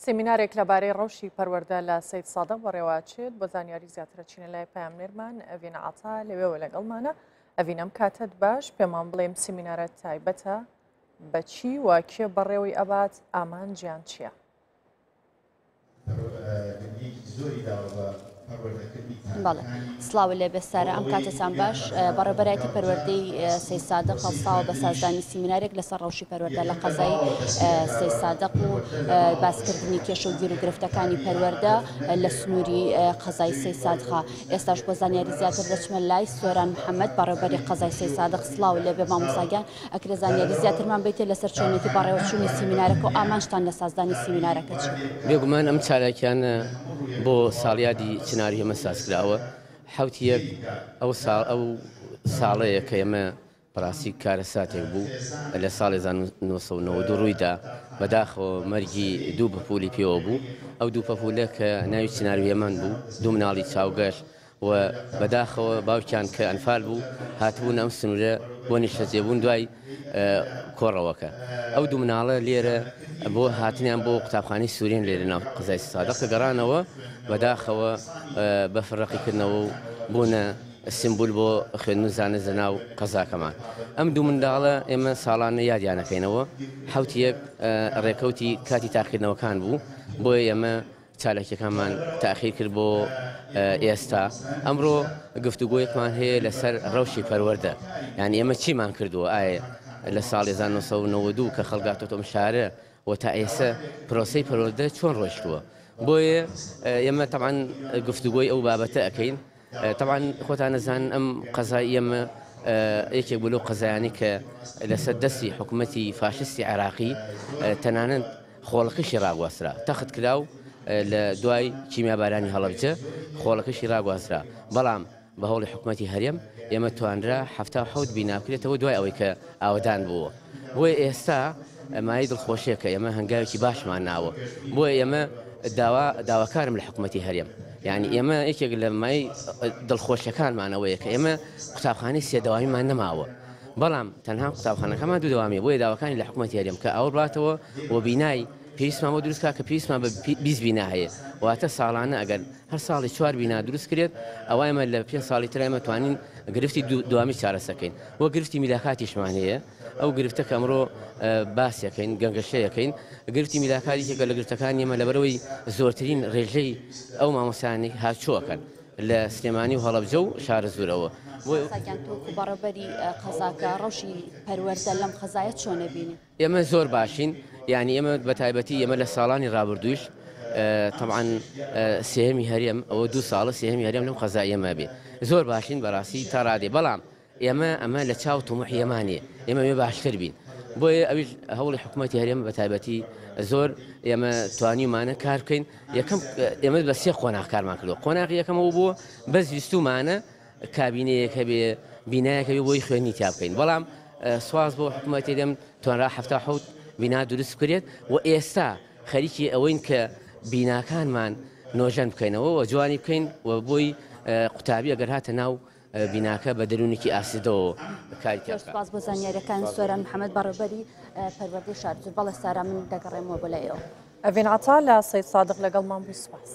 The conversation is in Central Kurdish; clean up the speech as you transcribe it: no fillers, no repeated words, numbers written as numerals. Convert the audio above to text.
سیمینارێک لەبارەی ڕەوشی پەروەردە لە سەیدسادق بەڕێوەئەچێت، بۆ زانیاری زیاتر ئەچینە لای پەیامنێرمان ئەڤین عەتا لەوێوە لەگەڵمانە. ئەڤین ئەم کاتەت باش، پێمان بڵێ ئەم سیمینارە تایبەتە بە چی و کێ بەڕێوەی ئەبات، ئامانجیان چییە؟ بەڵێ سڵاو لێ بێ سارا ئەم کاتەتان باش بەڕێوبەرایەتی پەروەردەی سەیدسادق هەڵساوە بە سازدانی سیمینارێک لەسەر ڕەوشی پەروەردە لە قەزای سەیدسادق و باسکردنی کێشە و گیروگرفتەکانی پەروەردە لە سنووری قەزای سەیدسادقا ئێستاش بۆ زانیاری زیاتر دەچمە لای سۆران محەممەد بەڕێوبەری قەزای سەیدسادق سڵاو لێ بێ مامۆساگیان ئەکرێ زانیاری زیاترمان بیتێ لەسەر چۆنێتی بەڕێوەچوونی سیمینارەکە و ئامانجتان لە سازدانی سیمینارەکە چییە؟ بێگومان ئەم چالاکیانە بۆ ساڵیادی چناری ئێمە سازکراوە حوتی یەک ئەو ساڵ ئەو ساڵەیە کە ئێمە بەڕاستی کارەساتێک بوو لە ساڵی 1992 ڕوویدا بەداخەوە مەرگی دوو پەپولی پێوە بوو ئەو دوو پەپولە کە ناوی چنار وێمەن بوو دوو مناڵی چاوگەش و بەداخەوە باوکیان کە ئەنفال بوو هاتبوون ئەم سنوورە بۆ نیشتەجێبوون دوای کۆڕەوەکە ئەو دوو مناڵە لێرە بۆ هاتنیان بۆ قوتابخانەی سوورین لێرە ناو قەزای سادق کە گەڕانەوە بەداخەوە بەفر ڕەقیکردنەوە و بوونە سیمبول بۆ خوێندن و زانست لە ناو قەزاکەمان ئەم دوو منداڵە ئێمە ساڵانە یادیانەکەینەوە حوتی یەک ڕێکەوتی کاتی تاقیکردنەوەکان بوو بۆیە ئێمە چالاکیەکانمان تاخیر کرد بۆ ئێستا ئەمڕۆ گفتوگۆیەکمان هەیە لەسەر ڕەوشی پەروەردە یعنی ئێمە چیمان کردووە ئایا لە ساڵی 1992 کە خەڵگاتۆتە ئەم شارە و تا ئێستا پرۆسەی پەروەردە چۆن ڕۆیشتووە بۆیە ئێمە تەبعەن گفتوگۆی ئەو بابەتە ئەەکەین تەبعەن خۆتان ئەزانن ئەم قەزای ئێمە یەکێک بوو لەو قەزایانەی کە لەسەر دەستی حکوومەتی فاشستی عێراقی تەنانەت خۆڵەکەشی ڕاگواسترا تەخت کرا و لە دوای کیمیابارانی هەڵەبجە خۆڵەکەشی ڕاگواسترا بەڵام بە هەوڵی حکوومەتی هەرێم ئێمە توانرا 77 بینا بکرێتەوە دوای ئەوەی کە ئاوەدان بووە بۆیە ئێستا مایەی دڵخۆشیە کە ئێمە هەنگاوێکی باشمان ناوە بۆیە ئێمە داوا داواکارم لە حکوومەتی هەرێم یعنی ئێمە یەکێک لە مای دڵخۆشیەکانمانەوەیە کە ئێمە قوتابخانەی سێ دەوامیمان نەماوە بەڵام تەنها قوتابخانەکەمان دوو دەوامیە بۆیە داواکانی لە حکوومەتی هەرێم کە ئاوڕ باتەوە و بینای پێویستمان بۆ دروست کا کە پێویستمان بە 20 بینا هەیە واتە ساڵانە ئەگەر هەر ساڵی چوار بینا دروست کرێت ئەوە ئێمە لە پێنج ساڵی تر ئێمە توانین گرفتی دوامی چارەسەکەین وە گرفتی میلاکاتیشمان هەیە ئەو گرفتە کە ئەمڕۆ باسیەکەین گەنگەشەیەکەین گرفتی میلاکات یەکێکە لە گرفتەکانی ئێمە لەبەرەوەی زۆرترین ڕێژەی ئەو مامۆستایانەی هاتووەکەن لە سلێمانی و هەڵەبجە و شارەزوورەوە. مامۆستا گیان تۆ وەکو بەڕێوبەری قەزاکە ڕەوشی پەروەردە لەم قەزایە چۆن ئەبینی؟ ئێمە زۆر باشین یانی ئێمە بە تایبەتی ئێمە لە ساڵانی ڕابردوویش تەبعەن سێهەمی هەرێم ئەوە دوو ساڵە سێهەمی هەرێم لەم قەزای ئێمە بێ زۆر باشین بەڕاستی تا ڕادێ بەڵام ئێمە ئەمە لە چاو تموحی ئێمە نییە ئێمە ئەوێ باشتر بین بۆیە ئەویش هەوڵی حکوومەتی هەرێم بە تایبەتی زۆر ئێمە توانیومانە کار بکەین یەکەم ئێمە بە سێ قۆناغ کارمان کردووە قۆناغی یەکەمەوە بووە بەس ویستومانە کابینەیەک هەبێ بینایەک هەبێ بۆی خوێندنی تیا بکەین بەڵام سواز بۆ حکوومەتی هەرێم توانرا 77 بینا دروست بکرێت و ئێستا خەریکی ئەوەین کە بیناکانمان نۆژەن بکەینەوە و جوانی بکەین و بۆی قوتابی ئەگەر هاتە ناو بیناکە بە دەروونێکی ئاسودەوە کاری تیا زۆر بکات. سوپاس بۆ زانیاریەکان سۆران محەمەد بەڕێوبەری پەروەردەی شارەزوور بەڵێ سارا من دەگەڕێمەوە بۆ لای ئێوە. ئەڤین عەتا لە سەیدسادق لەگەڵمان بوو سوپاس.